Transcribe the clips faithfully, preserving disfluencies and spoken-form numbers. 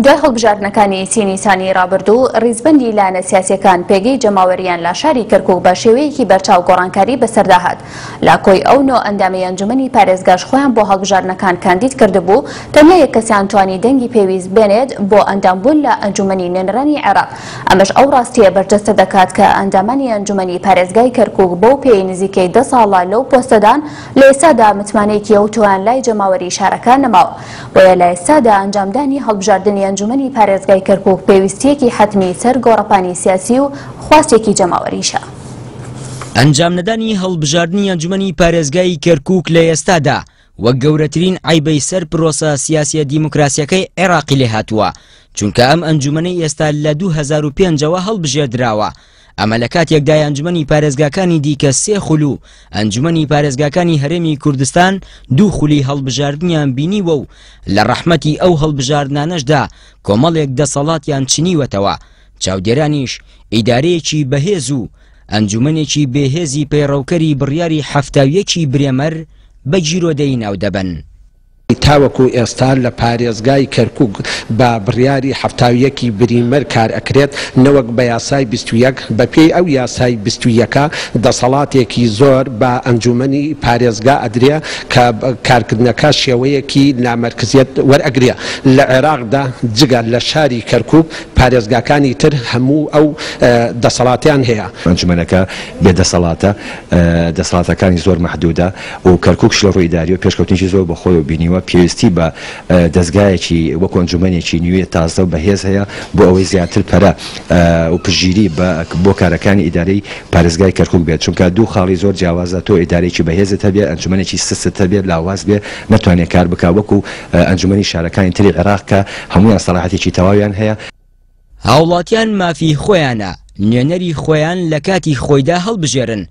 دوای هەڵبژاردنەکانی سی نیسانی ڕابردوو، ڕیزبەندی لایەنە سیاسیەکان پێگەی جەماوەریان لە شاری کەرکوک بە شێوەیەکی بەرچاو گۆڕانکاری بەسەردا هات. لە کۆی ئەو نۆ ئەندامی ئەنجومەنی پارێزگاش خۆیان بۆ هەڵبژاردنەکان کاندید کردبوو، تەنیا یەک کەسیان توانی دەنگی پێویست بێنێت بۆ ئەندامبوون لە ئەنجومەنی نوێنەرانی عێراق. ئەمەش ئەو ڕاستیە بەرجەستە دەکات کە ئەندامانی ئەنجومەنی پارێزگای کەرکوک بەو پێی نزیکەی دە ساڵە لەو پۆستەدان لە ئێستادا متمانەیەکی ئەوتۆیان لای جەماوەری شارەکە نەماوە. بۆیە لە ئێستادا ئەنجامدانی هەڵبژاردنی ئەنجومەنی پارێزگای کەرکوک پێویستیەکی حەتمی سەر گۆڕەپانی سیاسی و خواستێکی جەماوەریشە. ئەنجام نەدانی هەڵبژاردنی ئەنجومەنی پارێزگای کەرکوک لە ئێستادا وەک گەورەترین عەیبەی سەر پرۆسە سیاسیە دیموکراسیەکەی عێراقی لێهاتووە، چونکە ئەم ئەنجومەنەی ئێستا لە دوو هەزار و پێنج ەوە هەڵبژێردراوە. ئەمە لە کاتێکدای ئەنجومەنی پارێزگاکانی دیکە سێ خول و ئەنجومەنی پارێزگاکانی هەرێمی کوردستان دوو خولی هەڵبژاردنیان بینیوە و لە ڕەحمەتی ئەو هەڵبژاردنانەشدا کۆمەڵێک دەسەڵاتیان چنیوەتەوە. چاودێرانیش ئیدارەیەکی بەهێز و ئەنجومەنێکی بێهێزی پەیڕەوکەری بڕیاری حەفتا و یەکی برێمەر بە گیرۆدەیی ناو دەبەن. تاوەکو ئێستا لە پارێزگای کەرکوک بە بڕیاری حەفتا و یەکی بریمەر کار ئەکرێت نەوەک بە یاسای بیست و یەک. بەپێی ئەو یاسای بیست و یەکە دەسەڵاتێکی زۆر بە ئەنجومەنی پارێزگا ئەدرێ کە کارکردنەکە شێوەیەکی نامەرکزیەت وەرئەگرێ. لە عێراقدا جگە لە شاری کەرکوک پارێزگاکانی تر هەموو ئەو دەسەڵاتیان هەیە. ئەنجومەنەکە بێدەسەڵاتە، دەسەڵاتەکانی زۆر مەحدودە و کەرکوکش لە ڕووی ئیداریەوە پێشکەوتنێکی زۆر بەخۆیەوە بینیوە، پێویستی بە دەستگایەکی وەکو ئەنجومەنێکی نوێ تازە و بەهێز هەیە بۆ ئەوەی زیاتر پەرە و پشتگیری بۆ کارەکانی ئیدارەی پارێزگای کەرکوک بێت، چونکە دوو خاڵی زۆر جیاوازە. تۆ ئیدارەیەکی بەهێزت هەبێ، ئەنجومەنێکی سستت هەبێ، لاواز بێ، نەتوانێت کار بکا وەکو ئەنجومەنی شارەکانی تری عێراق کە هەمویان سەڵاحەتێکی تەواویان هەیە. هاوڵاتیان مافی خۆیانە نوێنەری خۆیان لە کاتی خۆیدا هەڵبژێرن.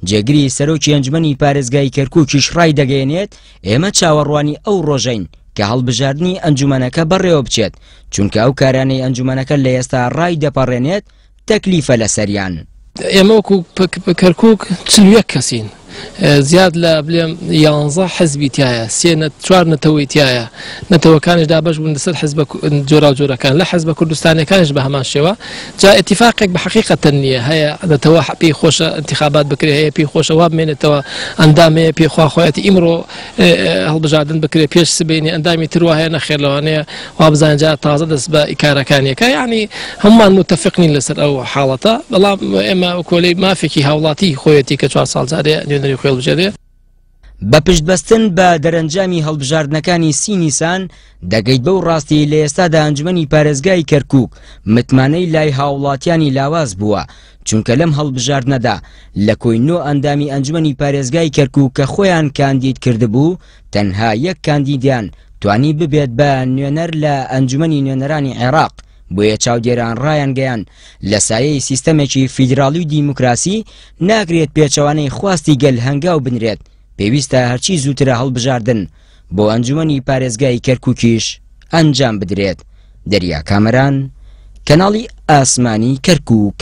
جێگری سەرۆکی ئەنجومەنی پارێزگای کەرکوکیش ڕای دەگەیەنێت ئێمە چاوەڕوانی ئەو ڕۆژەین کە هەڵبژاردنی ئەنجومەنەکە بەڕێوە بچێت، چونکە ئەو کارانەی ئەنجومەنەکە لە ئێستا ڕای دەپەڕێنێت تەکلیفە لەسەریان. ئێمە وەکو کەرکوک چل و یەک کەسین، زیاد لە بلێم یانزە حزبی تایە، سێ چوار نەتەوەی تایە، نەتەوەکانیش دابەش بوون لەسەر حزبە جۆراوجۆرەکان، لە حزبە کوردستانیەکانیش بە هەمان شێوە. جا اتفاقێک بە حەقیقەتەن نییە، هەیە نەتەوە پێی خۆشە انتخابات بکرێ، هەیە پێی خۆشە وا بمێنێتەوە ئەندام، هەیە پێی خوا خۆیەتی ئیمڕۆ هەڵبژاردن بکرێ پێش سبەینێ، ئەندامی تر وا هەیە نەخێر لەوانەیە وا بزانین جا تازە دەست بە ئیکارەکانیەکە. یعنی هەمومان متفق نین لەسەر ئەو حاڵەتە، بەڵام ئێمە کۆلەی مافێکی هاوڵاتی خۆیەتی کە چوار ساڵ جارێ نوێنەری خۆی هەڵبژێرێ. بە پشتبەستن بە دەرەنجامی هەڵبژاردنەکانی سی نیسان دەگەیت بەو ڕاستی لە ئێستادا ئەنجومەنی پارێزگای کەرکوک متمانەی لای هاوڵاتیانی لاواز بووە، چونکە لەم هەڵبژاردنەدا لە کۆی نۆ ئەندامی ئەنجومەنی پارێزگای کەرکوک کە خۆیان کاندید کردبوو تەنها یەک کاندیدیان توانی ببێت بە نوێنەر لە ئەنجومەنی نوێنەرانی عێراق. بۆیە چاودێران ڕایانگەیان لە سایەی سیستەمێکی فیدراڵی و دیموکراسی ناکرێت پێچەوانەی خواستی گەل هەنگاو بنرێت، پێویستە هەرچی زووترە هەڵبژاردن بۆ ئەنجومەنی پارێزگای کەرکوکیش ئەنجام بدرێت. دەریا کامەران، کەناڵی ئاسمانی کەرکوک.